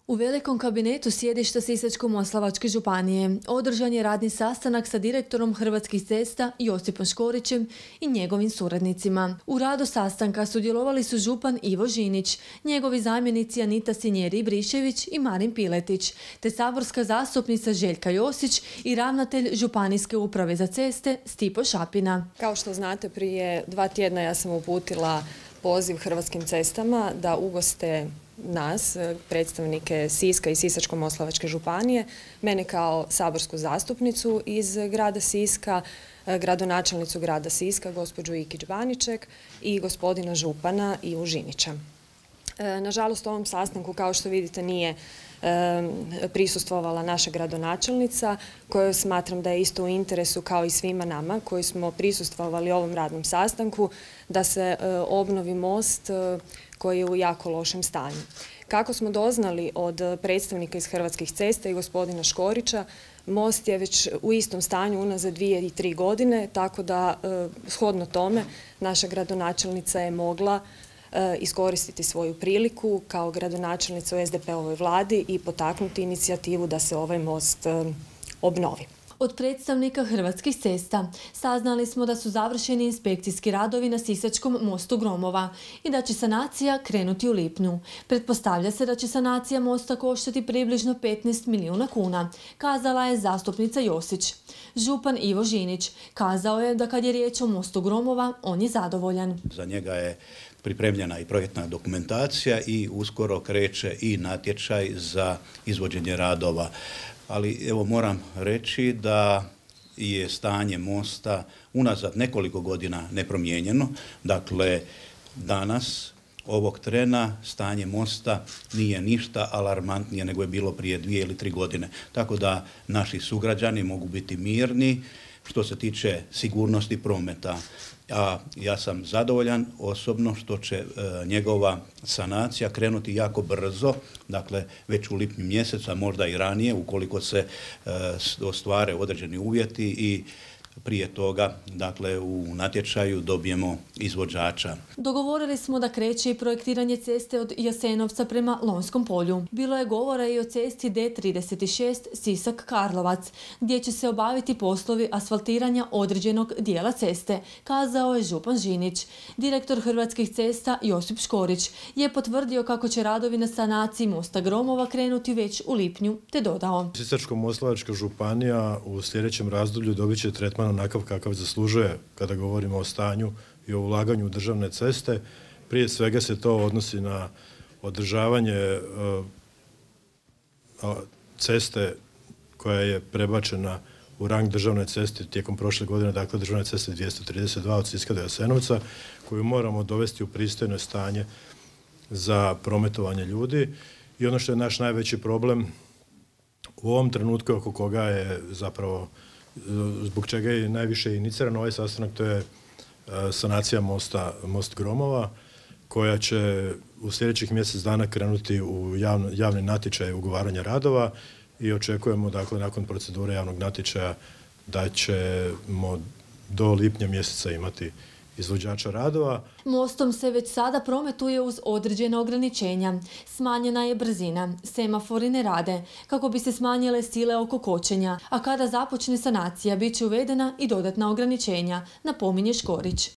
U velikom kabinetu sjedišta Sisačko-moslavačke županije održan je radni sastanak sa direktorom Hrvatskih cesta Josipom Škorićem i njegovim suradnicima. U radu sastanka sudjelovali su župan Ivo Žinić, njegovi zamjenici Anita Sinjeri-Ibrišević i Marin Piletić, te saborska zastupnica Željka Josić i ravnatelj Županijske uprave za ceste Stipo Šapina. Kao što znate, prije 2 tjedna ja sam uputila poziv Hrvatskim cestama da ugoste nas, predstavnike Siska i Sisačko-moslavačke županije, mene kao saborsku zastupnicu iz grada Siska, gradonačelnicu grada Siska, gospođu Ikić-Baniček i gospodina župana Ivu Žinića. Nažalost, ovom sastanku, kao što vidite, nije prisustvovala naša gradonačelnica, koju smatram da je isto u interesu kao i svima nama koji smo prisustvovali ovom radnom sastanku, da se obnovi most koji je u jako lošem stanju. Kako smo doznali od predstavnika iz Hrvatskih cesta i gospodina Škorića, most je već u istom stanju unazad 2 i 3 godine, tako da shodno tome naša gradonačelnica je mogla iskoristiti svoju priliku kao gradonačelnica u SDP-ovoj vladi i potaknuti inicijativu da se ovaj most obnovi. Od predstavnika Hrvatskih cesta saznali smo da su završeni inspekcijski radovi na Sisačkom mostu Gromova i da će sanacija krenuti u lipnju. Pretpostavlja se da će sanacija mosta koštati približno 15 milijuna kuna, kazala je zastupnica Josić. Župan Ivo Žinić kazao je da kad je riječ o mostu Gromova, on je zadovoljan. Za njega je pripremljena i projektna dokumentacija i uskoro kreće i natječaj za izvođenje radova. Ali evo moram reći da je stanje mosta unazad nekoliko godina nepromijenjeno. Dakle, danas, ovog trena, stanje mosta nije ništa alarmantnije nego je bilo prije 2 ili 3 godine. Tako da naši sugrađani mogu biti mirni što se tiče sigurnosti prometa. A ja sam zadovoljan osobno što će njegova sanacija krenuti jako brzo, dakle već u lipnju mjesecu, a možda i ranije ukoliko se ostvare određeni uvjeti i prije toga, dakle, u natječaju dobijemo izvođača. Dogovorili smo da kreće i projektiranje ceste od Jasenovca prema Lonjskom polju. Bilo je govora i o cesti D36 Sisak-Karlovac, gdje će se obaviti poslovi asfaltiranja određenog dijela ceste, kazao je župan Žinić. Direktor Hrvatskih cesta Josip Škorić je potvrdio kako će radovi na sanaciji mosta Gromova krenuti već u lipnju, te dodao: Sisačko-moslavačka županija u sljedećem razdoblju dobit će tretman onakav kakav zaslužuje kada govorimo o stanju i o ulaganju u državne ceste. Prije svega se to odnosi na održavanje ceste koja je prebačena u rang državne ceste tijekom prošle godine, dakle državne ceste 232 od Siska do Jasenovca, koju moramo dovesti u pristojno stanje za prometovanje ljudi. I ono što je naš najveći problem u ovom trenutku, oko koga je zapravo, zbog čega je najviše iniciran ovaj sastanak, to je sanacija most Gromova, koja će u sljedećih mjesec dana krenuti u javni natječaj ugovaranja radova i očekujemo, dakle, nakon procedure javnog natječaja da ćemo do lipnja mjeseca imati izvođača radova. Mostom se već sada prometuje uz određena ograničenja. Smanjena je brzina, semafori ne rade, kako bi se smanjile sile oko kočenja, a kada započne sanacija bit će uvedena i dodatna ograničenja, napominje Škorić.